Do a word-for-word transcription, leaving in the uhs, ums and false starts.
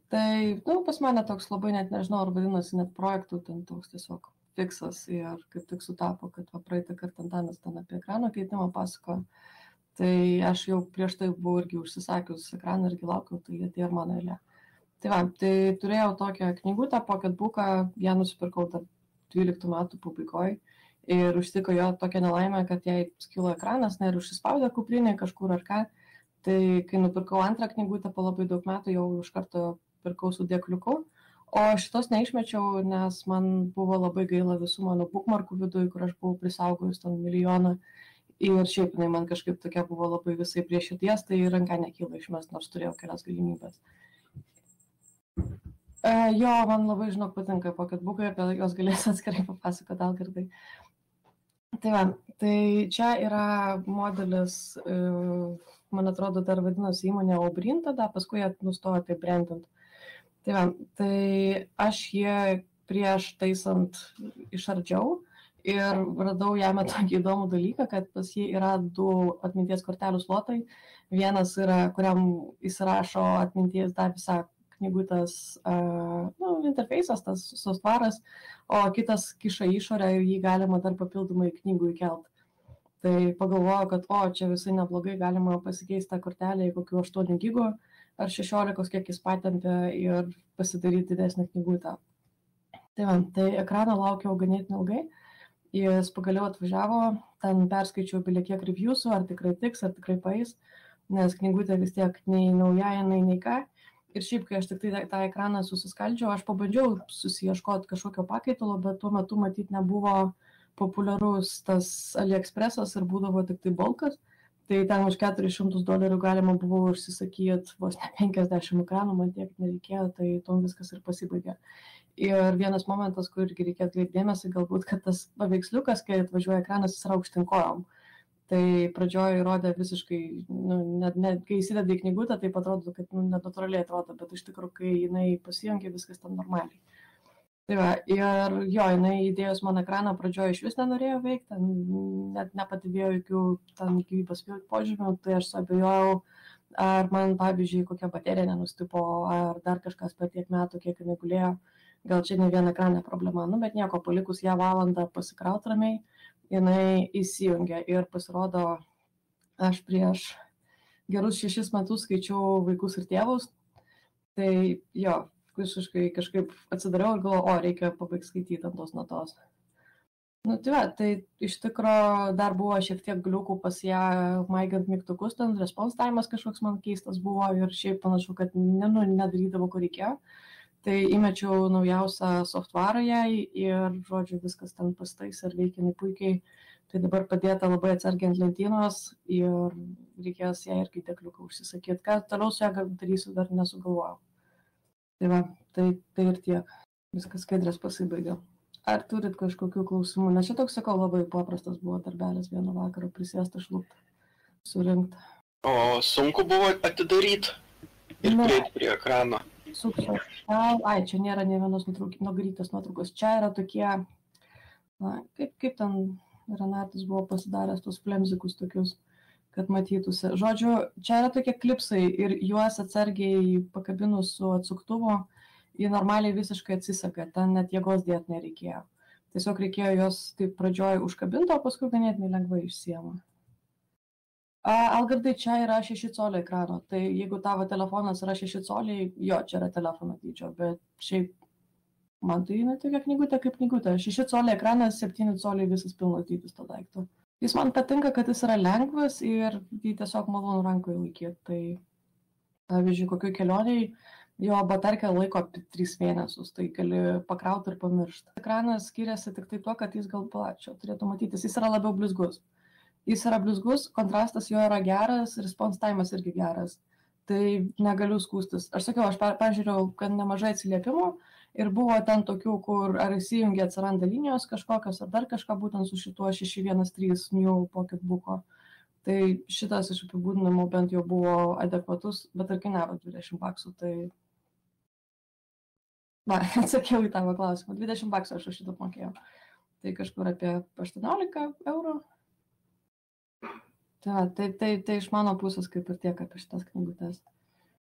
Tai, nu, pas mane toks labai net nežinau, ar vadinasi net projektų, ten toks tiesiog fiksas ir kaip tik sutapo, kad va praeitą kartą Antanas ten apie ekrano keitimą pasako. Tai aš jau prieš tai buvau irgi užsisakius ekraną irgi laukiau, tai atėjo ir mano eilė. Tai va, tai turėjau tokią knygutę, pocketbooką, ją nusipirkau dar dvyliktų metų pabaigoje ir užtiko jo tokią nelaimę, kad jai skilo ekranas, ne ir užsispaudė kuprinė kažkur ar ką. Tai kai nupirkau antrą knygutę po labai daug metų, jau iš karto pirkau su dėkliuku, o šitos neišmečiau, nes man buvo labai gaila visų mano bookmarkų viduje, kur aš buvau prisaugojus ten milijoną ir šiaip jinai man kažkaip tokia buvo labai visai prie širdies, tai ranka nekyla išmest, nors turėjau kelias galimybės. E, jo, man labai, žinok, patinka pocketbookai, apie jos galėsiu atskirai papasakoti Algirdai. Tai va, tai čia yra modelis, e, man atrodo, dar vadinosi įmonė Obrin tada, paskui jie nustojo tai brandint. Tai va, tai aš jį prieš taisant išardžiau ir radau jame tokį įdomų dalyką, kad pas jį yra du atminties kortelių slotai. Vienas yra, kuriam įsirašo atminties dar visą knygutės uh, nu, interfejsas, tas softvaras, o kitas kiša išorę ir jį galima dar papildomai knygų įkelt. Tai pagalvoju, kad o, čia visai neblogai galima pasikeisti tą kortelę į kokių aštuonių gigų ar šešiolikos, kiek jis patentė ir pasidaryti didesnį knygutę. Tai va, tai ekraną laukiau ganėtinai ilgai, jis pagaliau atvažiavo, ten perskaičiau bilė kiek reviewsų, ar tikrai tiks, ar tikrai paeis, nes knygutė vis tiek nei nauja, nei nei ką. Ir šiaip, kai aš tik tai tą ekraną susiskaldžiau, aš pabandžiau susiieškoti kažkokio pakaitalo, bet tuo metu matyt nebuvo populiarus tas AliExpressas ir būdavo tik tai bulkas. Tai ten už keturis šimtus dolerių galima buvo užsisakyti vos ne penkiasdešimt ekranų, man tiek nereikėjo, tai tuom viskas ir pasibaigė. Ir vienas momentas, kur irgi reikėtų atkreipti dėmesį, galbūt, kad tas paveiksliukas, kai atvažiuoja ekranas, jis yra aukštyn kojom. Tai pradžioje įrodė visiškai, nu, net, net kai įsideda į knygutę, tai atrodo, kad nu, net natūraliai atrodo, bet iš tikrųjų, kai jinai pasijungia, viskas ten normaliai. Tai va, ir jo, jinai įdėjus man ekraną pradžioje iš vis nenorėjo veikti, net nepatyvėjo jokių ten gyvybės požymių, tai aš suabejojau, ar man, pavyzdžiui, kokia baterija nenustipo, ar dar kažkas per tiek metų, kiek jinai gulėjo, gal čia ne viena ekranė problema, nu, bet nieko, palikus ją valandą pasikraut ramiai, jinai įsijungia ir pasirodo, aš prieš gerus šešis metus skaičiau Vaikus ir tėvus, tai jo, visiškai kažkaip atsidariau ir galvoju, o, reikia pabaigti skaityti ant tos natos. Nu, tai va, tai iš tikro dar buvo šiek tiek gliukų pas ją maigant mygtukus, ten response time'as kažkoks man keistas buvo ir šiaip panašu, kad ne, nu, nedarydavo, ko reikėjo. Tai įmečiau naujausią softvarą jai ir, žodžiu, viskas ten pastais ir veikia puikiai. Tai dabar padėta labai atsargiai ant lentynos ir reikės ją irgi dėkliuką užsisakyti. Ką toliau su ją darysiu, dar nesugalvojau. Tai va, tai, tai ir tiek. Viskas skaidrės pasibaigė. Ar turit kažkokių klausimų? Nes čia toks, sakau, labai paprastas buvo darbelis vieno vakaro prisėsti, šlupti, surinkti. O sunku buvo atidaryti ir prieiti prie ekrano? Sukčiau. Ai, čia nėra ne vienos nugarytės nuotraukos. Čia yra tokie, na, kaip, kaip ten Renatas buvo pasidaręs tos flemzikus tokius, kad matytųsi. Žodžiu, čia yra tokie klipsai ir juos atsargiai pakabinus su atsuktuvu, jie normaliai visiškai atsisaka, ten net jėgos dėti nereikėjo. Tiesiog reikėjo jos taip pradžioj užkabinti, o paskui ganėtinai lengvai išsiema. Algirdai, čia yra šeši coliai ekrano, tai jeigu tavo telefonas yra šeši coliai, jo, čia yra telefono dydžio, bet šiaip man tai ne tokia knygutė kaip knygutė. šeši coliai ekranas, septyni coliai visas pilnas dydis to daikto. Jis man patinka, kad jis yra lengvas ir jį tiesiog malonu rankoje laikyti. Tai, pavyzdžiui, kokioj kelioniai jo batarkė laiko tris mėnesius, tai gali pakrauti ir pamiršti. Ekranas skiriasi tik tai tuo, kad jis gal plačio turėtų matytis, jis yra labiau blizgus. Jis yra blizgus, kontrastas jo yra geras, response time'as irgi geras. Tai negaliu skūstis. Aš sakiau, aš pažiūrėjau, kad nemažai atsiliepimų ir buvo ten tokių, kur ar įsijungia atsiranda linijos kažkokios, ar dar kažką būtent su šituo šeši vienas trys New Pocketbook'o. Tai šitas iš apibūdinimų bent jau buvo adekvatus, bet ir kainavo dvidešimt baksų, tai... Va, atsakiau į tavo klausimą. dvidešimt baksų aš už šitą mokėjau. Tai kažkur apie aštuoniolika eurų. Tai, tai, tai, tai iš mano pusės kaip ir tiek apie šitas knygutes.